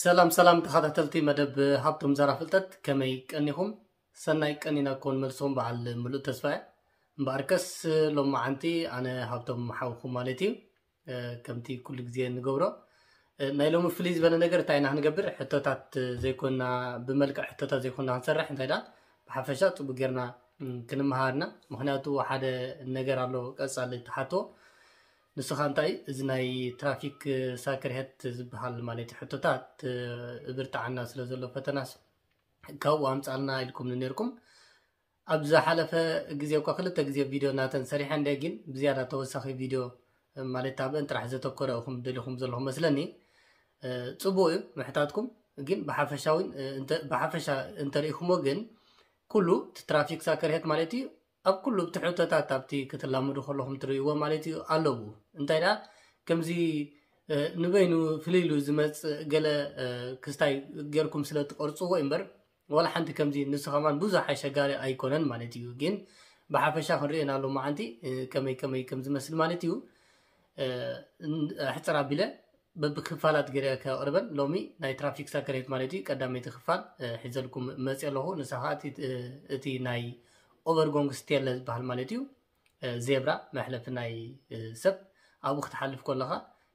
ሰላም ሰላም ተኸታተልቲ መደብ ሃብቶም ዘራ ፍልጠት፣ ከመይ ቀኒኹም? ሰናይ ቀኒና ክኾን መልሶም በዓል ምሉእ ተስፋ እየ። እምበኣርከስ ሎማዓንቲ ኣነ ሃብቶም ሓውኹም ማለት እዩ። እ፣ ከምቲ ኩሉ ግዜ እንገብሮ፣ እ፣ ናይ ሎሚ ፍልይ ዝበለ ነገር እንታይ ኢና ክንገብር? ሕቶታት ዘይኮና፣ ብመልክዕ ሕቶታት ዘይኮና ክንሰርሕ፣ እንታይ ደኣ ብሓፈሻ ጽቡቅ ጌርና፣ ም፣ ክንመሃርና። ምኽንያቱ ሓደ ነገር ኣሎ ቀጻሊ ትሓቶ። ንስኻ እንታይ እዚ ናይ ትራፊክ ሳክርሄት ዝበሃል ማለት እዩ ሕቶታት፣ እ፣ እብርትዓና ስለ ዘሎ ፈተናስ ካብኡ ኣምጻልና ኢልኩም ነርኩም። ኣብ ዝሓለፈ ግዜ እኳ ክልተ ግዜ ቪድዮ ናተን ሰሪሐ እንደ ግን ብዝያዳ ተወሳኺ ቪድዮ ማለት ኣብአን ጥራሕ ዘተኮረ ኢኹም ደሊኹም ዘለኹም መስለኒ። እ፣ ጽቡቅ እዩ ምሕታትኩም፣ ግን ብሓፈሻ እውን፣ እ፣ እንተ-፣ ብሓፈሻ እንተሪኢኹሞ ግን ኩሉ እቲ ትራፊክ ሳክርሄት ማለት እዩ ኣብ ኩሉ እቲ ሕቶታት ኣብቲ ክትላምዱ ከለኹም ትርእይዎ ማለት እዩ ኣለዉ። እንታይ ደኣ ከምዚ፣ እ፣ ንበይኑ ፍልይ ኢሉ ዝመጽእ ገለ፣ እ፣ ክስታይ ጌርኩም ስለ ትቐርጽዎ እምበር ዋላ ሓንቲ ከምዚ ንሱ ከማን ብዙሕ ኣሸጋሪ ኣይኮነን ማለት እዩ። ግን ብሓፈሻ ክንርእዮ ኢና ሎማዓንቲ፣ እ፣ ከመይ ከመይ ከም ዝመስል ማለት እዩ። እ፣ ን-፣ ኣሕጽር ኣቢለ በብክፋላት ገይረ ከቕርበን ሎሚ ናይ ትራፊክ ሳክርሄት ማለት እዩ ቀዳመይቲ ክፋል፣ እ፣ ሒዘልኩም መጽእ ኣለኹ። ንሳ ኸኣ እቲ፣ እ፣ እቲ ናይ ኦቨርጎንግ ስቴለ ዝበሃል ማለት እዩ። እ፣ ዜብራ መሕለፊ ናይ፣ እ፣ ሰብ ኣብኡ ክትሓልፍ ከለኻ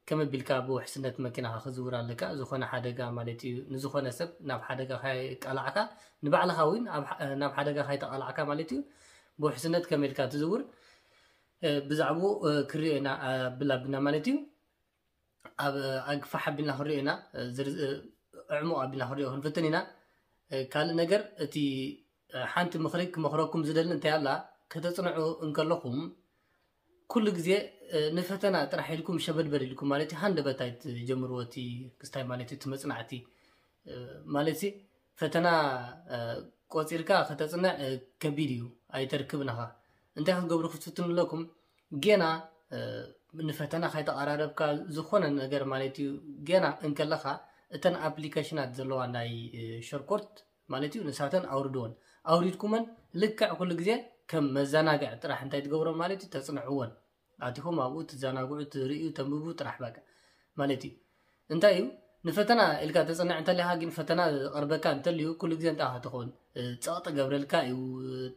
ከመይ ቢልካ ብውሕስነት መኪናኻ ክዝውር ኣለካ። ዝኾነ ሓደጋ ማለት እዩ፣ ንዝኾነ ሰብ ናብ ሓደጋ ካይቃላዕካ፣ ንባዕልኻ እውን ኣብ ሓ-፣ ናብ ሓደጋ ካይተቃላዕካ ማለት እዩ። ብውሕስነት ከመይ ኢልካ ትዝውር፣ እ፣ ብዛዕባኡ፣ እ፣ ክሪኦ ኢና፣ እ፣ ኣብል ኣቢልና ማለት እዩ። ኣብ፣ እ፣ ኣግፋሕ ኣቢልና ክንሪኦ ኢና፣ እ፣ ዝርዝ-፣ እ፣ ዕሙቕ ኣቢልና ክንሪኦ ክንፍትን ኢና። እ፣ ካልእ ነገር እቲ፣ እ፣ ሓንቲ ምኽሪ ክመኽረኩም ዝደሊ እንታይ ኣላ፣ ከተጽንዑ እንከለኹም ኩሉ ግዜ፣ እ፣ ንፈተና ጥራሕ ኢልኩም ሸበድበድ ኢልኩም ማለት እዩ ሃንደበት ኣይትጀምርዎ። እቲ ክስታይ ማለት እዩ እቲ መጽናዕቲ፣ እ፣ ማለት ሲ ፈተና፣ እ፣ ቆጺርካ ከተጽንዕ፣ እ፣ ከቢድ እዩ፣ ኣይተርክብን ኢኻ። እንታይ ክትገብሩ ክትፍትኑ ኣለኩም? ጌና፣ እ፣ ንፈተና ካይተቐራረብካ ዝኾነ ነገር ማለት እዩ ጌና እንከለኻ እተን ኣፕሊኬሽናት ዘለዋ ናይ፣ እ፣ ሸርኮት ማለት እዩ ንሳተን ኣውርድወን። ኣውሪድኩመን ልክዕ ኩሉ ግዜ ከም መዘናግዒ ጥራሕ እንታይ ትገብሮም ማለት እዩ ተጽንዕወን። ኣቲኹም ኣብኡ ትዘናግዑ፣ ትርእዩ፣ ተንብቡ ጥራሕ በቃ ማለት እዩ። እንታይ እዩ ንፈተና ኢልካ ተጸንዕ እንተሊኻ ግን ፈተና ዝቐርበካ እንተልዩ ኩሉ ግዜ እንታይ ኢኻ ትኸውን? እ፣ ጸቕጢ ገብረልካ እዩ፣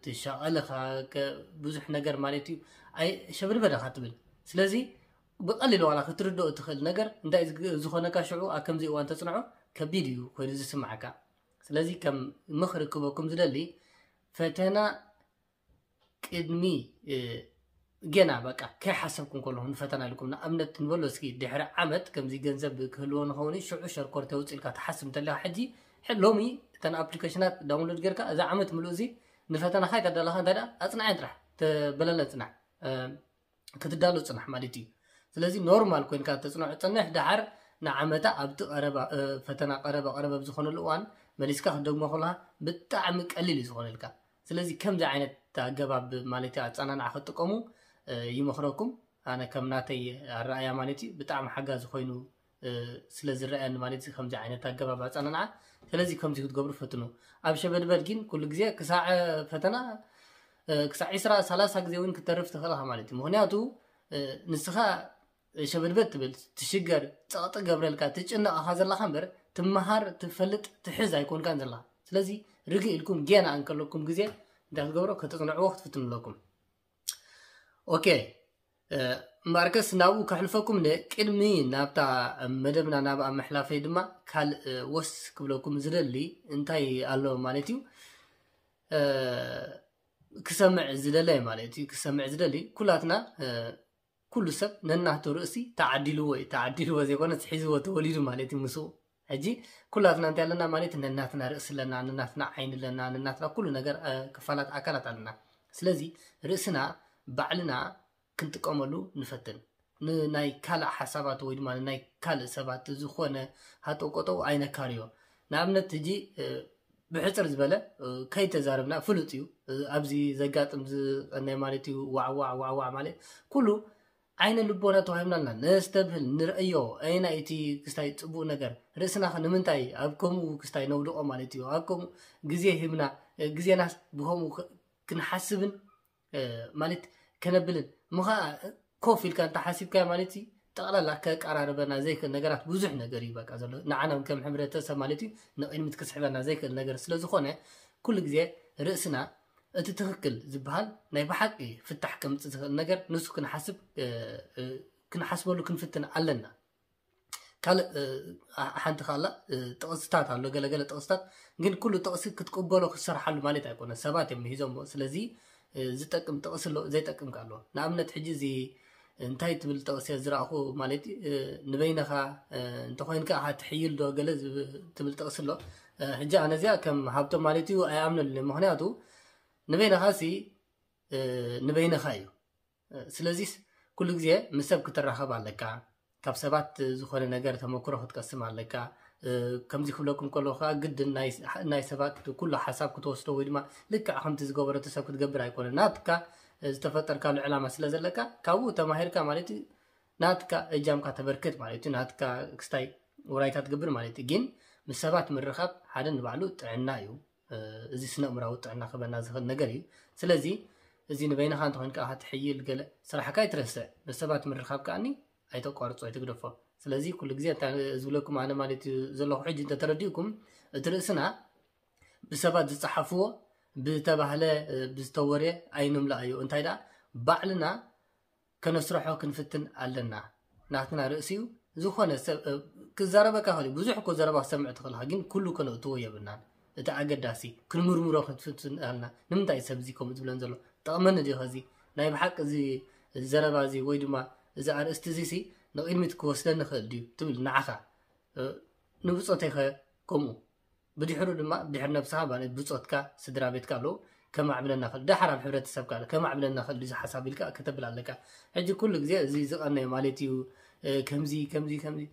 ትሻቐል ኢኻ፣ ከ-፣ ብዙሕ ነገር ማለት እዩ። ኣይ ሸብድበድ ኢኻ ትብል። ስለዚ ብቐሊል ዋላ ክትርድኦ እትኽእል ነገር እንታይ ዝግ-፣ ዝኾነካ ሽዑ ኣብ ከምዚ እዋን ተጽንዖ ከቢድ እዩ ኮይኑ ዝስምዓካ። ስለዚ ከም ምኽሪ ክበኩም ዝደሊ ፈተና ቅድሚ፣ እ፣ ገና በቃ ከይሓሰብኩም ከለኹም ንፈተና ኢልኩም ንኣብነት ንበሎ እስኪ ድሕሪ ዓመት ከምዚ ገንዘብ ክህልዎ ንኸውን ሽዑ ሸርኮር ተውፅእ ኢልካ ትሓስብ እንተለካ ሕጂ ሕ-፣ ሎሚ እተን ኣፕሊኬሽናት ዳውንሎድ ጌርካ እዚ ዓመት ምሉእ እዚ ንፈተናኻ ይተዳለኻ እንታይ ደኣ ኣጽናዐን ጥራሕ ተበለለ ጽናሕ፣ እ፣ ክትዳሎ ጽናሕ ማለት እዩ። ስለዚ ኖርማል ኮይንካ ተጽንዖ ጽንሕ ደሓር ንዓመታ ኣብቲ ቀረባ፣ እ፣ ፈተና ቀረባ ቀረባ ኣብ ዝኾነሉ እዋን መሊስካ ክትደግሞ ከለኻ ብጣዕሚ ቀሊል እዩ ዝኾነልካ። ስለዚ ከምዚ ዓይነት ኣገባብ ማለት እዩ ኣጸናንዓ ክትጥቀሙ፣ እ፣ ይመኽረኩም። ኣነ ከም ናተይ ኣረኣያ ማለት እዩ ብጣዕሚ ሓጋዚ ኮይኑ፣ እ፣ ስለ ዝረኣየኒ ማለት እዩ ከምዚ ዓይነት ኣገባብ ኣጸናንዓ። ስለዚ ከምዚ ክትገብሩ ፈትኑ። ኣብ ሸበድበድ ግን ኩሉ ግዜ ክሳዕ፣ እ፣ ፈተና፣ እ፣ ክሳዕ ዒስራ ሰላሳ ግዜ እውን ክተርፍ ትኽእል ኢኻ ማለት እዩ። ምኽንያቱ፣ እ፣ ንስኻ ሸበድበድ ትብል፣ ትሽገር፣ ጸቕጢ ገብረልካ፣ ትጭነቕ ኢኻ ዘለኻ እምበር ትመሃር፣ ትፈልጥ፣ ትሕዝ ኣይኮንካን ዘለኻ። ስለዚ ርግእ ኢልኩም ጌና እንከለኩም ግዜ እንታይ ክትገብሮ ከተጽንዕዎ ክትፍትኑ ኣለኩም። ኦኬ፣ እ፣ እምበኣርከስ ናብኡ ከሕልፈኩም ንቅድሚ ናብታ መደብና ናብኣ ምሕላፈይ ድማ ካልእ፣ እ፣ ወስ ክብለኩም ዝደሊ እንታይ ኣሎ ማለት እዩ። እ፣ ክሰምዕ ዝደለ ማለት እዩ። ክሰምዕ ዝደሊ ኩላትና፣ እ፣ ኩሉ ሰብ ነናቱ ርእሲ ተዓዲልዎ እዩ። ተዓዲልዎ ዘይኮነስ ሒዝዎ ተወሊዱ ማለት እዩ ምስኡ። ሕጂ ኩላትና እንታይ ኣለና ማለት ነናትና ርእሲ ኣለና፣ ነናትና ዓይኒ ኣለና፣ ነናትና ኩሉ ነገር፣ እ፣ ክፋላት ኣካላት ኣለና። ስለዚ ርእስና ባዕልና ክንጥቀመሉ ንፈትን። ንናይ ካልእ ሓሳባት ወይ ድማ ንናይ ካልእ ሰባት ዝኾነ ሃጠውቀጠው ኣይነካርዮ። ንኣብነት ሕጂ፣ እ፣ ብሕጽር ዝበለ፣ እ፣ ከይተዛረብና ፍሉጥ እዩ። እ፣ ኣብዚ ዘጋጥም ዝቐነየ ማለት እዩ ዋዕዋዕ ዋዕዋዕ ማለት ኩሉ ዓይነ ልቦና ተዋሂብና ኣለና። ነስተብህል፣ ንርእዮ፣ ኣየናይ እቲ ክስታይ ጽቡቕ ነገር፣ ርእስና ኸ ንምንታይ ኣብ ከምኡ ክስታይ ነውድቖ ማለት እዩ። ኣብ ከምኡ ግዜ ሂብና፣ እ፣ ግዜናስ ብኸምኡ ክ-፣ ክንሓስብን፣ እ፣ ማለት ከነብልን። እሞ ኸኣ ኮፍ ኢልካ እንተ ሓሲብካዮ ማለት እዩ፣ ጠቕላላ ከቀራርበና ዘይክእል ነገራት ብዙሕ ነገር እዩ በቃ ዘሎ። ንዓና ከም ሕብረተሰብ ማለት እዩ ንቕድሚት ክስሕበና ዘይክእል ነገር ስለ ዝኾነ፣ ኩሉ ግዜ ርእስና እቲ ትኽክል ዝበሃል ናይ ብሓቂ ፍታሕ ከምጽእ ዝኽእል ነገር ንሱ ክንሓስብ ክንሓስበሉ ክንፍትን ኣለና። ካልእ ሓንቲ ካላ ጥቕስታት ኣሎ፣ ገለገለ ጥቕስታት ግን ኩሉ ጥቕሲ ክትቅበሎ ክትሰርሓሉ ማለት ኣይኮነ። ሰባት እዮም ሂዞሞ። ስለዚ ዝጠቅም ጥቕሲ ኣሎ፣ ዘይጠቅም ኣሎ። ንኣብነት ሕጂ እዚ እንታይ ትብል ጥቕሲ ዝረእኹ ማለት ንበይነኻ እንተኮይንካ ኣኻ ትሕይል ዶ ገለ ትብል ጥቕሲ ኣሎ። ሕጂ ኣነ እዚኣ ከም ሃብቶም ማለት እዩ ኣይኣምነሉ። ምክንያቱ ንበይነኻ ሲ ንበይነኻ እዩ። ስለዚስ ኩሉ ግዜ ምስ ሰብ ክትራኸብ ኣለካ። ካብ ሰባት ዝኾነ ነገር ተመክሮ ክትቀስም ኣለካ። ከምዚ ክብለኩም ከለኹ ከዓ ግድን ናይ ሰባት ኩሉ ሓሳብ ክትወስዶ ወይ ድማ ልክዕ ከምቲ ዝገበረቶ ሰብ ክትገብር ኣይኮነ። ናትካ ዝተፈጠርካሉ ዕላማ ስለ ዘለካ ካብኡ ተማሂርካ ማለት እዩ። ናትካ እጃምካ ተበርክት ማለት እዩ። ናትካ ክስታይ ውራይካ ትገብር ማለት እዩ። ግን ምስ ሰባት ምርኻብ ሓደ ንባዕሉ ጥዕና እዩ። እዚ ስነ ኣእምራዊ ጥዕና ክበና ዝኽእል ነገር እዩ። ስለዚ እዚ ንበይንኻ እንተኾይንካ ክትሕይል ገለ ስራሕካ ኣይትረስዕ። ምስ ሰባት ምርኻብ ከኣኒ ኣይተቋርጾ ኣይትግደፎ። ስለዚ ኩሉ ግዜ እንታይ ዝብለኩም ኣነ ማለት እዩ ዘለኹ ሕጂ እንተተረዲእኩም እቲ ርእስና ብሰባት ዝጸሓፍዎ ብተባህለ ብዝተወርየ ኣይንምላእዮ። እንታይ ደኣ ባዕልና ከነስርሖ ክንፍትን ኣለና። ናትና ርእሲ እዩ። ዝኾነ ሰብ ክዛረበካ ኸእል ብዙሕ እኮ ዘረባ ክሰምዕ ትኽእልካ ግን ኩሉ ከነእትዎ የብልናን። እቲ ኣገዳሲ ክንምርምሮ ክንፍትን ኣለና። ንምንታይ ሰብ እዚ ከምኡ ዝብለን ዘሎ ጠቕመኒ ድዩ ከዚ ናይ ብሓቂ እዚ ዘረባ እዚ ወይ ድማ እዚ ኣርእስቲ እዚ ሲ ንቕድሚት ክወስደኒ ኽእል ድዩ ትብል ንዓኻ ንብፆተይኸ ከምኡ ብድሕሩ ድማ ድሕሪ ነብስኻ ማለት ብፆትካ ስድራ ቤትካ ኣለዉ ከማዕብለና ክእል ደሓር ኣብ ሕብረተሰብካ ከማዕብለና ክእል እዚ ሓሳብ ኢልካ ከተብል ኣለካ። ሕጂ ኩሉ ግዜ እዚ ዝቐነየ ማለት እዩ። ከምዚ ከምዚ ከምዚ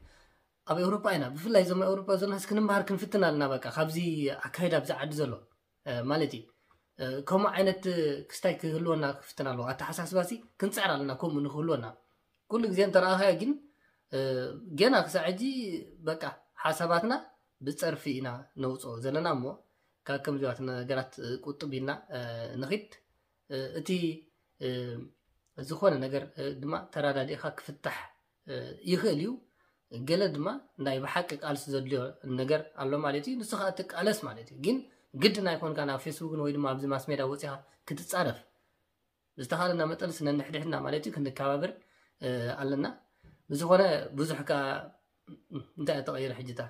ኣብ ኤውሮጳ ኢና ብፍላይ እዞም ኤውሮጳ ዘለናስ ክንምሃር ክንፍትን ኣለና። በቃ ካብዚ ኣካይዳ ኣብዚ ዓዲ ዘሎ ማለት እዩ ከምኡ ዓይነት ክስታይ ክህልወና ክፍትን ኣለዎ። ኣተሓሳስባ ሲ ክንፅዕር ኣለና ከምኡ ንክህልወና ኩሉ ግዜ እንተረኣኻዮ ግን ገና ክሳዕ ሕጂ በቃ ሓሳባትና ብፀርፊ ኢና ነውፅኦ ዘለና እሞ ካብ ከምዚዋት ነገራት ቁጥብ ኢልና ንኺድ። እቲ ዝኾነ ነገር ድማ ተራዳዲእኻ ክፍታሕ ይኽእል እዩ። ገለ ድማ ናይ ብሓቂ ቃልሲ ዘድልዮ ነገር ኣሎ ማለት እዩ። ንሱ ከዓ ትቃለስ ማለት እዩ። ግን ግድን ኣይኮንካ ናብ ፌስቡክን ወይ ድማ ኣብዚ ማስሜዳ ወፂኻ ክትፃረፍ ብዝተኻለና መጠን ስነንሕድሕድና ማለት እዩ ክንከባበር ኣለና። ብዝኾነ ብዙሕ ከዓ እንታይ ተቐይረ ሕጅታ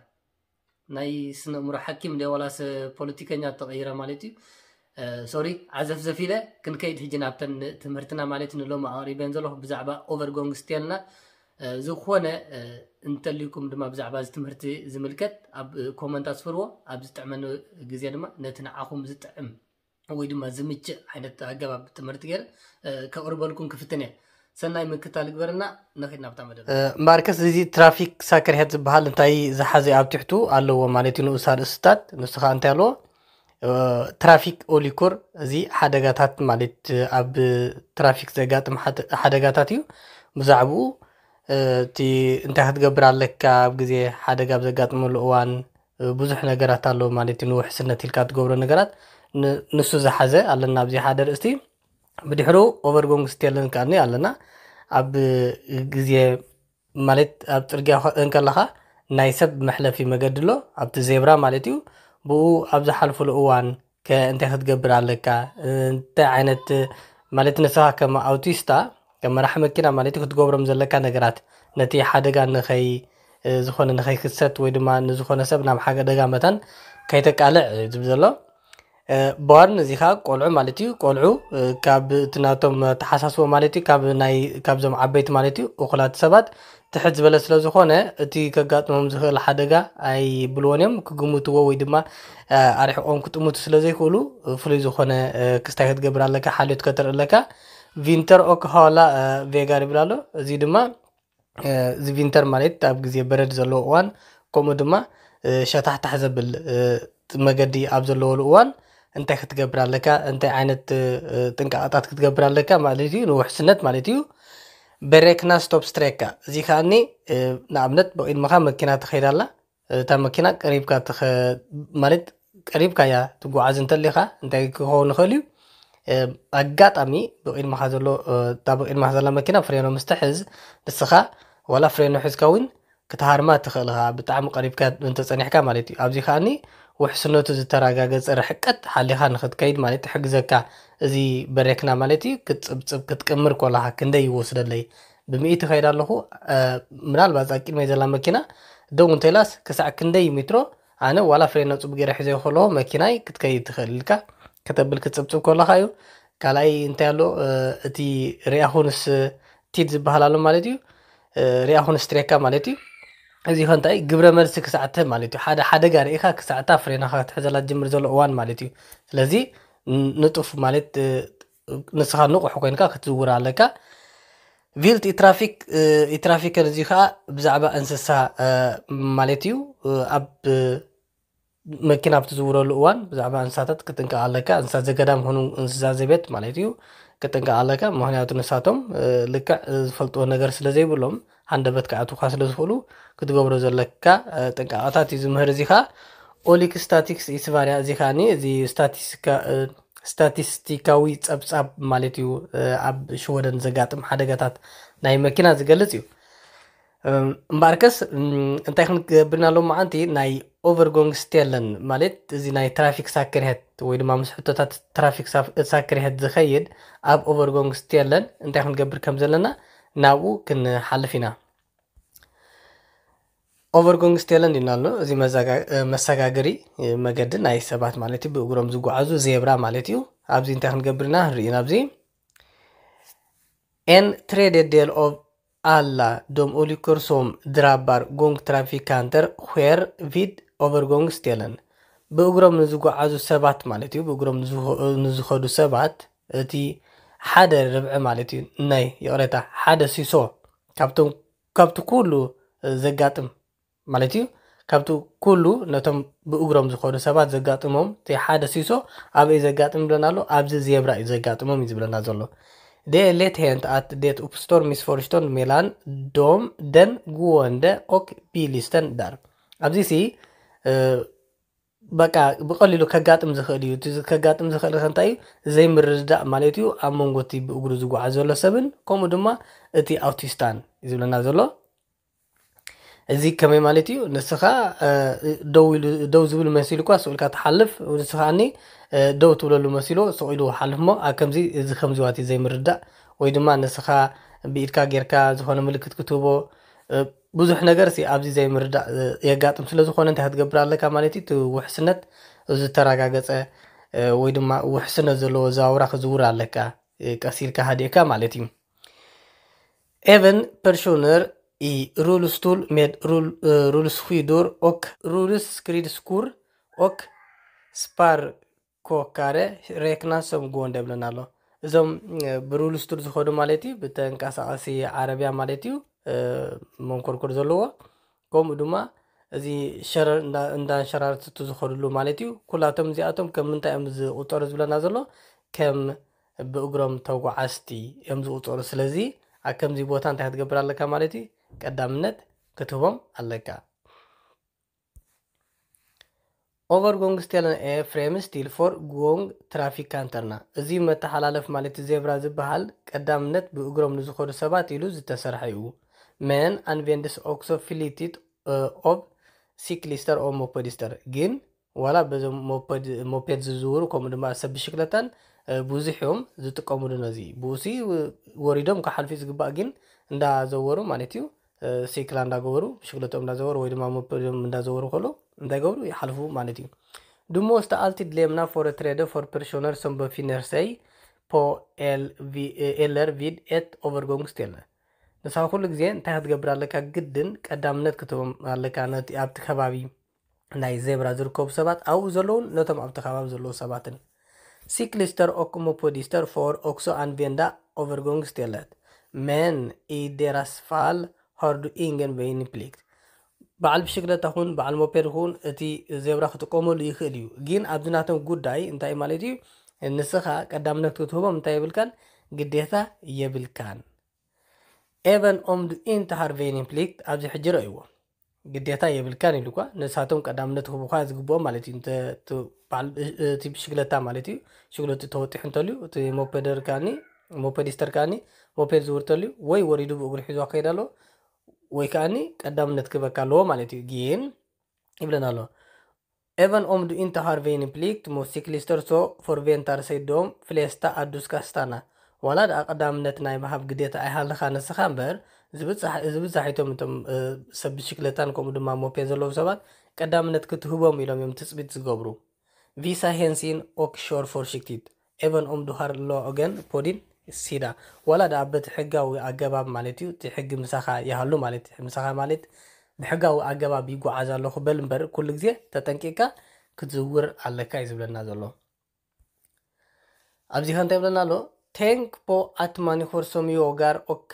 ናይ ስነ እምሮ ሓኪም ደ ዋላስ ፖለቲከኛ ተቐይረ ማለት እዩ። ሶሪ ዓዘፍዘፍ ኢለ ክንከይድ ሕጂ ናብተን ትምህርትና ማለት ንሎም ኣቕሪበን ዘለኹ ብዛዕባ ኦቨርጎንግ ስቴልና ዝኾነ እንተልዩኩም ድማ ብዛዕባ እዚ ትምህርቲ ዝምልከት ኣብ ኮመንት ኣስፍርዎ። ኣብ ዝጥዕመኒ ግዜ ድማ ነቲ ንዓኹም ዝጥዕም ወይ ድማ ዝምችእ ዓይነት ኣገባብ ትምህርቲ ገይረ ከቕርበልኩም ክፍትን እየ። ሰናይ ምክታል ግበርና። ነኺድ ናብታ መደብ። ማርከስ እዚ ትራፊክ ሳክርሄት ዝበሃል እንታይ ዝሓዘ ኣብ ትሕቱ ኣለዎ ማለት እዩ ንኡስ ኣርእስታት ንሱ ከዓ እንታይ ኣለዎ? ትራፊክ ኦሊኮር እዚ ሓደጋታት ማለት ኣብ ትራፊክ ዘጋጥም ሓደጋታት እዩ። ብዛዕባኡ እቲ እንታይ ክትገብር ኣለካ ኣብ ግዜ ሓደጋ ኣብ ዘጋጥመሉ እዋን ብዙሕ ነገራት ኣሎ ማለት እዩ። ንውሕስነት ኢልካ ትገብሮ ነገራት ንሱ ዝሓዘ ኣለና ኣብዚ ሓደ ርእስቲ። ብድሕሩ ኦቨርጎንግ ስቴልን ከኣኒ ኣለና ኣብ ግዜ ማለት ኣብ ፅርግያ እንከለኻ ናይ ሰብ መሕለፊ መገዲ ኣሎ ኣብቲ ዜብራ ማለት እዩ። ብኡ ኣብ ዝሓልፍሉ እዋን ከ እንታይ ክትገብር ኣለካ? እንታይ ዓይነት ማለት ንስኻ ከም ኣውቲስታ ከም መራሕ መኪና ማለት እዩ ክትገብሮም ዘለካ ነገራት ነቲ ሓደጋ ንኸይ ዝኾነ ንኸይክሰት ወይ ድማ ንዝኾነ ሰብ ናብ ሓደጋ መታን ከይተቃልዕ እዩ ዝብል ዘሎ። በዋርን እዚ ከዓ ቆልዑ ማለት እዩ። ቆልዑ ካብ እቲ ናቶም ተሓሳስቦ ማለት እዩ ካብ ናይ ካብዞም ዓበይቲ ማለት እዩ እኹላት ሰባት ትሕት ዝበለ ስለ ዝኾነ እቲ ከጋጥሞም ዝኽእል ሓደጋ ኣይብልዎን እዮም። ክግምትዎ ወይ ድማ ኣርሕቆም ክጥምቱ ስለ ዘይክእሉ ፍሉይ ዝኾነ ክስታይ ክትገብር ኣለካ፣ ሓልዮት ከተርኢ ኣለካ። ቪንተር ኦክ ሃዋላ ቬጋር ይብል ኣሎ። እዚ ድማ እዚ ቪንተር ማለት ኣብ ግዜ በረድ ዘለዎ እዋን ከምኡ ድማ ሸታሕታሕ ዘብል መገዲ ኣብ ዘለወሉ እዋን እንታይ ክትገብር ኣለካ፣ እንታይ ዓይነት ጥንቃቐታት ክትገብር ኣለካ ማለት እዩ፣ ንውሕስነት ማለት እዩ። በሬክና ስቶፕ ስትሬካ እዚ ከኣኒ ንኣብነት ብቕድመኻ መኪና ትኸይድ ኣላ። እታ መኪና ቀሪብካ ማለት ቀሪብካ እያ ትጓዓዝ እንተሊኻ እንታይ ክኸውን ይኽእል እዩ? ኣጋጣሚ ብቕድመኻ ዘሎ እታ ብቕድመኻ ዘላ መኪና ፍሬኖ ምስ ትሕዝ ንስኻ ዋላ ፍሬኖ ሒዝካ እውን ክትሃርማ ትኽእል ኢኻ፣ ብጣዕሚ ቀሪብካ እንተጸኒሕካ ማለት እዩ። ኣብዚ ከኣኒ ውሕስነቱ ዝተረጋገጸ ርሕቀት ሓሊኻ ንኽትከይድ ማለት ይሕግዘካ። እዚ በሬክና ማለት እዩ፣ ክትጽብጽብ ክትቅምር ከለኻ ክንደይ ይወስደለይ? ብሚእቲ ከይድ ኣለኹ፣ እ፣ ምናልባት እዛ ቅድመይ ዘላ መኪና ደው እንተኢላስ ክሳዕ ክንደይ ሜትሮ ኣነ ዋላ ፍሬና ጽቡቅ ገይረ ሒዘዮ ከለኹ መኪናይ ክትከይድ ትኽእል ኢልካ ከተብል ክትጽብጽብ ከለኻ እዩ። ካልኣይ እንታይ ኣሎ፣ እ፣ እቲ ሪኣኹንስ ቲድ ዝበሃል ኣሎ ማለት እዩ። እ፣ ሪኣኹንስ ትሬካ ማለት እዩ። እዚ ከ እንታይ ግብረ መልሲ ክሳዕ ትህብ ማለት እዩ። ሓደ ሓደጋ ርኢኻ ክሳዕ እታ ፍሬናኻ ክትሕዘላ ትጅምር ዘሎ እዋን ማለት እዩ። ስለዚ ን-፣ ንጡፍ ማለት፣ እ፣ ንስኻ ንቑሕ ኮይንካ ክትዝውር ኣለካ። ቪልት ኢትራፊክ፣ እ፣ ኢትራፊከን እዚ ኸኣ ብዛዕባ እንስሳ፣ እ፣ ማለት እዩ። እ፣ ኣብ፣ እ፣ መኪና ኣብ ትዝውረሉ እዋን ብዛዕባ እንስሳታት ክትጥንቀቕ ኣለካ። እንስሳ ዘገዳም ኾኑ እንስሳ ዘቤት ማለት እዩ፣ ክትጥንቀቕ ኣለካ። ምኽንያቱ ንሳቶም፣ እ፣ ልክዕ፣ እ፣ ዝፈልጥዎ ነገር ስለ ዘይብሎም ሃንደበት ክኣትዉኻ ስለ ዝኽእሉ ክትገብሮ ዘለካ፣ እ፣ ጥንቃቐታት እዩ ዝምህር። እዚ ኸኣ ኦሊክ ስታቲክስ ኢስቫርያ፣ እዚ ኸኣኒ እዚ ስታቲስቲካ-፣ እ፣ ስታቲስቲካዊ ጸብጻብ ማለት እዩ፣ እ፣ ኣብ ሽወደን ዘጋጥም ሓደጋታት ናይ መኪና ዝገልጽ እዩ። እም፣ እምበኣርከስ፣ እም፣ እንታይ ክንገብር ኢና ሎም መዓንቲ ናይ ኦቨርጎንግስቴለን ማለት እዚ ናይ ትራፊክ ሳክርሄት ወይ ድማ ምስ ሕቶታት ትራፊክ ሳፍ-፣ ሳክርሄት ዝኸይድ ኣብ ኦቨርጎንግስቴለን እንታይ ክንገብር ከም ዘለና ናብኡ ክንሓልፍ ኢና። ኦቨርጎንግስቴለን ኢልና ኣሎ። እዚ መዛጋ-፣ እ፣ መሰጋገሪ፣ እ፣ መገዲ ናይ ሰባት ማለት እዩ፣ ብእግሮም ዝጓዓዙ ዜብራ ማለት እዩ። ኣብዚ እንታይ ክንገብር ኢና ንርኢ ናብዚ። En tredjedel av alla de olyckor som drabbar gångtrafikanter sker vid övergångsställen. ብእግሮም ንዝጓዓዙ ሰባት ማለት እዩ፣ ብእግሮም ንዝኸ-፣ ንዝኸዱ ሰባት እቲ ሓደ ርብዒ ማለት እዩ፣ ናይ ይቕሬታ፣ ሓደ ሲሶ ካብቶም፣ ካብቲ ኩሉ ዘጋጥም ማለት እዩ። ካብቲ ኩሉ ነቶም ብእግሮም ዝኸዱ ሰባት ዘጋጥሞም እቲ ሓደ ሲሶ ኣበይ ዘጋጥም ብለና ኣሎ? ኣብዚ ዜብራ እዩ ዘጋጥሞም እዩ ዝብለና ዘሎ። Det är lätt hänt att det uppstår missförstånd mellan dem, den gående och bilisten där. ኣብዚ ሲ፣ እ፣ በቃ ብቐሊሉ ከጋጥም ዝኽእል እዩ። እቲ ከጋጥም ዝኽእል ከ እንታይ እዩ? ዘይምርድዳእ ማለት እዩ ኣብ መንጎ እቲ ብእግሩ ዝጓዓዝ ዘሎ ሰብን ከምኡ ድማ እቲ ኣውቲስታን እዩ ዝብለና ዘሎ። እዚ ከመይ ማለት እዩ? ንስኻ፣ እ፣ ደው ኢሉ፣ ደው ዝብል መሲሉ እኳ ስቕ ኢልካ ትሓልፍ፣ ንስኻ እኒ፣ እ፣ ደው ትብለሉ መሲሉ ስቕ ኢሉ ሓልፍ እሞ ኣብ ከምዚ፣ እዚ ከምዚ ዋት እዩ ዘይምርዳእ፣ ወይ ድማ ንስኻ ብኢድካ ጌርካ ዝኾነ ምልክት ክትህቦ፣ እ፣ ብዙሕ ነገር ሲ ኣብዚ ዘይምርዳእ፣ እ፣ የጋጥም ስለ ዝኾነ እንታይ ክትገብር ኣለካ ማለት እዩ? እቲ ውሕስነት ዝተረጋገጸ፣ እ፣ ወይ ድማ ውሕስነት ዘለዎ ኣዘዋውራ ክዝውር ኣለካ፣ እ፣ ቀስ ኢልካ ሃዲእካ ማለት እዩ። Även personer i rullstol med rull-, eh, rullskidor och rullskridskor och sparkåkare räknas som gående ብለና ኣሎ። እዞም፣ እ፣ ብሩልስቱል ዝኸዱ ማለት እዩ፣ ብተንቀሳቐሲ ዓረብያ ማለት እዩ፣ እ፣ መንኮርኮር ዘለዎ፣ ከምኡ ድማ እዚ ሸረር እንዳ-፣ እንዳንሸራተቱ ዝኸድሉ ማለት እዩ። ኩላቶም እዚኣቶም ከም ምንታይ እዮም ዝቑጸሩ ዝብለና ዘሎ? ከም ብእግሮም ተጓዓዝቲ እዮም ዝቑጸሩ። ስለዚ ኣብ ከምዚ ቦታ እንታይ ክትገብር ኣለካ ማለት እዩ? ቀዳምነት ክትህቦም ኣለካ። Övergångsställen är främst till för gångtrafikanterna. እዚ መተሓላለፍ ማለት ዜብራ ዝበሃል ቀዳምነት ብእግሮም ንዝኸዱ ሰባት ኢሉ ዝተሰርሐ እዩ። Men används också flitigt, eh, av cyklister och mopedister. ግን ዋላ በዞም ሞፐድ-፣ ሞፔድ ዝዝውሩ ከምኡ ድማ ሰብ ብሽክለታን፣ እ፣ ብዙሕ እዮም ዝጥቀምሉ ነዚ። ብኡሲ ወሪዶም ክሓልፉ ዝግባእ ግን እንዳዘወሩ ማለት እዩ። እ፣ ሲክላ እንዳገበሩ፣ ብሽክለቶም እንዳዘወሩ ወይ ድማ ሞፐዶም እንዳዘወሩ ከሎ እንታይ ገብሩ? ይሓልፉ ማለት እዩ። Du måste alltid lämna företräde för personer som befinner sig på el-, vi-, eh, eller vid ett övergångsställe. ንስኻ ኩሉ ግዜ እንታይ ክትገብር ኣለካ? ግድን ቀዳምነት ክትህቦም ኣለካ ነቲ ኣብቲ ከባቢ ናይ ዜብራ ዝርከቡ ሰባት፣ ኣብኡ ዘለውን ነቶም ኣብቲ ከባቢ ዘለዉ ሰባትን። Cyklister och mopedister får också använda övergångsstället, men i deras fall har du ingen väjningsplikt. በዓል ብሽክለታ ኹን በዓል ሞፔድ ኹን እቲ ዜብራ ክጥቀመሉ ይኽእል እዩ፣ ግን ኣብዚ ናቶም ጉዳይ እንታይ ማለት እዩ? ንስኻ ቀዳምነት ክትህቦም እንታይ የብልካን? ግዴታ የብልካን። Även om du inte har väjningsplikt፣ ኣብዚ ሕጂ ረእይዎ፣ ግዴታ የብልካን ኢሉ እኳ፣ ንሳቶም ቀዳምነት ክህቡኻ ዝግብኦም ማለት እዩ። እንተ-፣ እቲ በዓል፣ እቲ ብሽግለታ ማለት እዩ፣ ሽግለቱ ተወጢሑ እንተልዩ፣ እቲ ሞፔደር ከኣኒ፣ ሞፔዲስተር ከኣኒ፣ ሞፔድ ዝውር እንተልዩ፣ ወይ ወሪዱ ብእግሩ ሒዞ ክኸይድ ኣለዎ፣ ወይ ከዓኒ ቀዳምነት ክበካ ኣለዎ ማለት እዩ። ግን ይብለና ኣሎ። Även om du inte har vaneplikt mot cyklister så förväntar sig de flesta att du ska stanna. ዋላ ደኣ ቀዳምነት ናይ ምሃብ ግዴታ ኣይሃልኻ ንስኻ እምበር፣ ዝብዛሕ- ዝብዛሒቶም እቶም እ፣ ሰብ ብሽክለታን ከምኡ ድማ ሞፔ ዘለዉ ሰባት ቀዳምነት ክትህቦም ኢሎም እዮም ትፅቢት ዝገብሩ። Visa hänsyn och kör försiktigt. Även om du har lagen på din sida. ዋላ ደኣ በቲ ሕጋዊ ኣገባብ ማለት እዩ፣ እቲ ሕጊ ምሳኻ ይሃሉ ማለት እዩ። ምሳኻ ማለት ብሕጋዊ ኣገባብ ይጓዓዝ ኣለኹ በል እምበር ኩሉ ግዜ ተጠንቂቕካ ክትዝውር ኣለካ እዩ ዝብለና ዘሎ። ኣብዚ ከ እንታይ ይብለና ኣሎ? Tänk på att människor som jagar och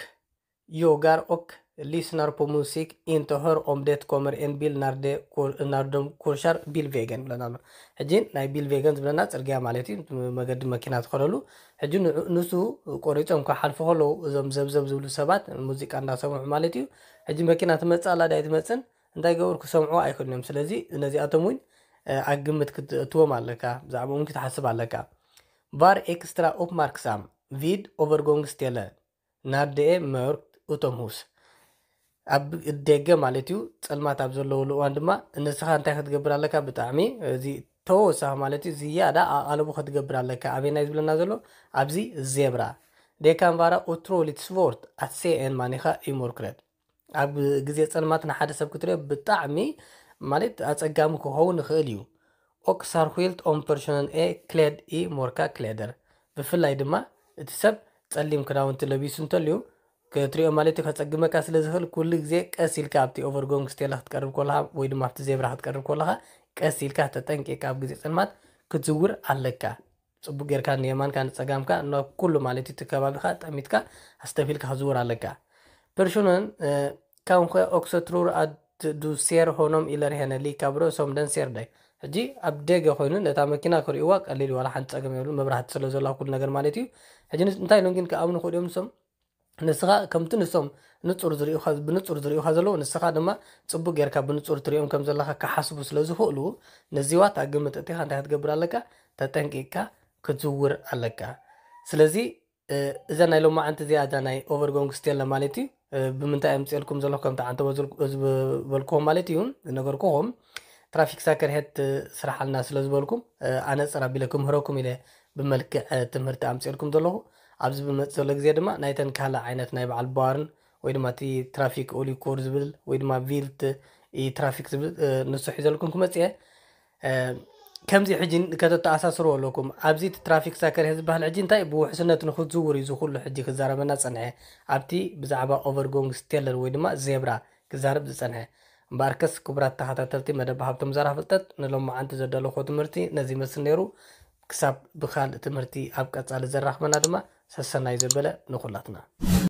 jagar och lyssnar på musik inte hör om det kommer en bil när de kör- när de korsar bilvägen ይብለና ኣሎ። ሕጂ ናይ ቢልቬገን ዝብለና ፅርግያ ማለት እዩ፣ መገዲ መኪና ትኸደሉ። ሕጂ ንዑ- ንሱ ቆሪፆም ክሓልፉ ከለዉ እዞም ዘብዘብ ዝብሉ ሰባት ሙዚቃ እንዳሰምዑ ማለት እዩ። ሕጂ መኪና ትመፅእ ኣላ ዳይ ትመፅን እንታይ ገበሩ ክሰምዑ ኣይክእሉን እዮም። ስለዚ ነዚኣቶም እውን እ፣ ኣብ ግምት ክትእትዎም ኣለካ፣ ብዛዕባኦም ክትሓስብ ኣለካ። Var extra uppmärksam vid övergångsställen när det är mörkt utomhus. ኣብ ደገ ማለት እዩ፣ ጸልማት ኣብ ዘለወሉ እዋን ድማ ንስኻ እንታይ ክትገብር ኣለካ? ብጣዕሚ እዚ ተወሳኺ ማለት እዩ ዝያዳ ኣቓልቦ ክትገብር ኣለካ። ኣበይ ናይ ዝብለና ዘሎ ኣብዚ ዜብራ። Det kan vara otroligt svårt att se en människa i mörkret. ኣብ ግዜ ጸልማት ንሓደ ሰብ ክትሪኦ ብጣዕሚ ማለት ኣጸጋሚ ክኸውን ይኽእል እዩ። Och särskilt om personen är klädd i mörka kläder. ብፍላይ ድማ እቲ ሰብ ጸሊም ክዳውንቲ ለቢሱ እንተልዩ ክትሪኦ ማለት እዩ ከጸግመካ ስለ ዝኽእል ኩሉ ግዜ ቀስ ኢልካ ኣብቲ ኦቨርጎንግ ስቴላ ክትቀርብ ከለኻ ወይ ድማ ኣብቲ ዜብራ ክትቀርብ ከለኻ ቀስ ኢልካ ተጠንቂቕካ ኣብ ግዜ ጸልማት ክትዝውር ኣለካ። ጽቡቅ ጌርካ ንየማንካ ንጸጋምካ ናብ ኩሉ ማለት እዩ እቲ ከባቢኻ ጠሚትካ ኣስተፊልካ ክዝውር ኣለካ። Personen eh, kanske också tror att du ser honom eller henne lika bra som den ser dig. ሕጂ ኣብ ደገ ኮይኑ ነታ መኪና ክርእይዋ ቀሊል እዩ፣ ዋላ ሓንቲ ጸገም የብሉ፣ መብራህቲ ስለ ዘላ ኩሉ ነገር ማለት እዩ። ሕጂ ንስ- እንታይ ኢሎም ግን ክኣምኑ ክእሉ እዮም ንሶም? ንስኻ ከምቲ ንሶም ንጹር ዝርእዩኻ ብንጹር ዝርእዩኻ ዘለዉ ንስኻ ድማ ጽቡቅ ጌርካ ብንጹር ትርእዮም ከም ዘለኻ ክሓስቡ ስለ ዝኽእሉ ነዚዋ እታ ግምት እቲኻ እንታይ ክትገብር ኣለካ? ተጠንቂቅካ ክትዝውር ኣለካ። ስለዚ እዛ ናይ ሎማዓንቲ እዚኣ እዛ ናይ ኦቨርጎንግ ስቴላ ማለት እዩ። ብምንታይ ኣምፅኤልኩም ዘለኹ ከምቲ ዓንተ ዝበልኩኹም ማለት እዩ ዝነገርኩኹም ትራፊክ ሳከር ሄድ ስራሕ ኣልና ስለ ዝበልኩም ኣነፅር ኣቢለ ክምህረኩም ኢለ ብመልክዕ ትምህርቲ ኣምፅኤልኩም ዘለኹ። ኣብዚ ብመፅ ዘሎ ግዜ ድማ ናይተን ካልእ ዓይነት ናይ በዓል ባርን ወይ ድማ እቲ ትራፊክ ኦሊኮር ዝብል ወይ ድማ ቪልት ትራፊክ ዝብል ንሱ ሒዘልኩም ክመፅእ እየ። ከምዚ ሕጂ ከተተኣሳስርዎ ኣለኩም። ኣብዚ እቲ ትራፊክ ሳከር ዝበሃል ሕጂ እንታይ ብውሕስነት ንክትዝውር እዩ ዝኩሉ ሕጂ ክዛረበና ጸንሐ። ኣብቲ ብዛዕባ ኦቨርጎንግ ስቴለር ወይ ድማ ዜብራ ክዛረብ ዝጸንሐ። እምበኣርከስ ክቡራት ተኸታተልቲ መደብ ሃብቶም ዘራ ፍልጠት ንሎማዓንቲ ዘዳለኹዎ ትምህርቲ ነዚ ይመስል ነይሩ። ክሳብ ብካልእ ትምህርቲ ኣብ ቀጻሊ ዘራኽበና ድማ ሰሰናዩ ዘበለ ንኹላትና።